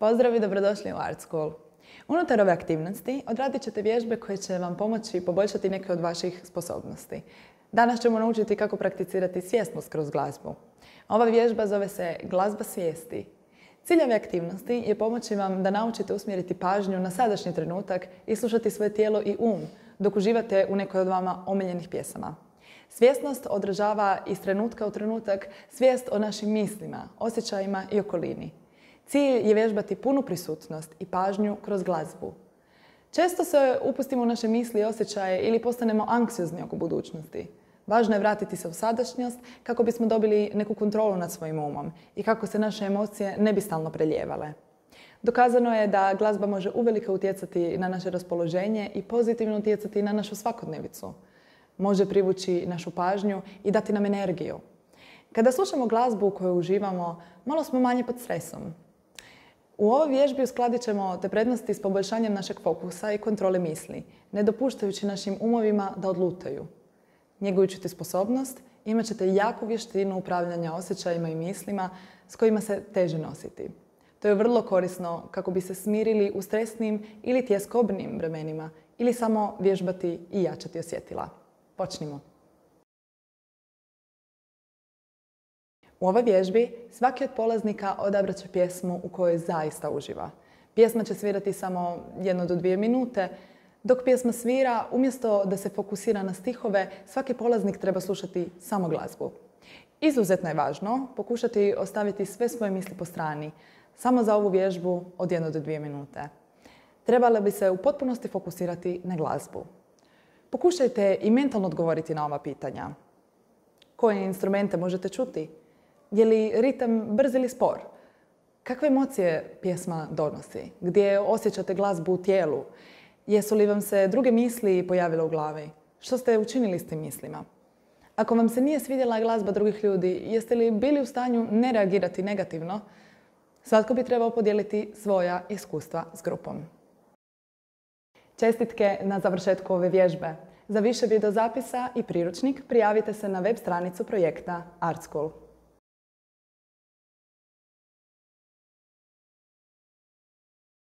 Pozdrav i dobrodošli u Art School. Unutar ove aktivnosti odradit ćete vježbe koje će vam pomoći poboljšati neke od vaših sposobnosti. Danas ćemo naučiti kako prakticirati svjesnost kroz glazbu. Ova vježba zove se glazba svijesti. Cilj ove aktivnosti je pomoći vam da naučite usmjeriti pažnju na sadašnji trenutak i slušati svoje tijelo i dok uživate u nekoj od vama omiljenih pjesama. Svjesnost odražava iz trenutka u trenutak svijest o našim mislima, osjećajima i okolini. Cilj je vježbati punu prisutnost i pažnju kroz glazbu. Često se upustimo u naše misli i osjećaje ili postanemo anksiozni oko budućnosti. Važno je vratiti se u sadašnjost kako bismo dobili neku kontrolu nad svojim umom i kako se naše emocije ne bi stalno preljevale. Dokazano je da glazba može uvelike utjecati na naše raspoloženje i pozitivno utjecati na našu svakodnevicu. Može privući našu pažnju i dati nam energiju. Kada slušamo glazbu u kojoj uživamo, malo smo manje pod stresom. U ovoj vježbi uskladit ćemo te prednosti s poboljšanjem našeg fokusa i kontrole misli, ne dopuštajući našim umovima da odlutaju. Njegujući tu sposobnost, imat ćete jaku vještinu upravljanja osjećajima i mislima s kojima se teže nositi. To je vrlo korisno kako bi se smirili u stresnim ili tjeskobnim vremenima ili samo vježbati i jačati osjetila. Počnimo. U ovoj vježbi svaki od polaznika odabrat će pjesmu u kojoj zaista uživa. Pjesma će svirati samo 1 do 2 minute. Dok pjesma svira, umjesto da se fokusira na stihove, svaki polaznik treba slušati samo glazbu. Izuzetno je važno pokušati ostaviti sve svoje misli po strani, samo za ovu vježbu od 1 do 2 minute. Trebala bi se u potpunosti fokusirati na glazbu. Pokušajte i mentalno odgovoriti na ova pitanja. Koje instrumente možete čuti? Je li ritam brz ili spor? Kakve emocije pjesma donosi? Gdje osjećate glazbu u tijelu? Jesu li vam se druge misli pojavile u glavi? Što ste učinili s tim mislima? Ako vam se nije svidjela glazba drugih ljudi, jeste li bili u stanju ne reagirati negativno? Svatko bi trebao podijeliti svoja iskustva s grupom. Čestitke na završetku ove vježbe. Za više videozapisa i priručnik prijavite se na web stranicu projekta Art School.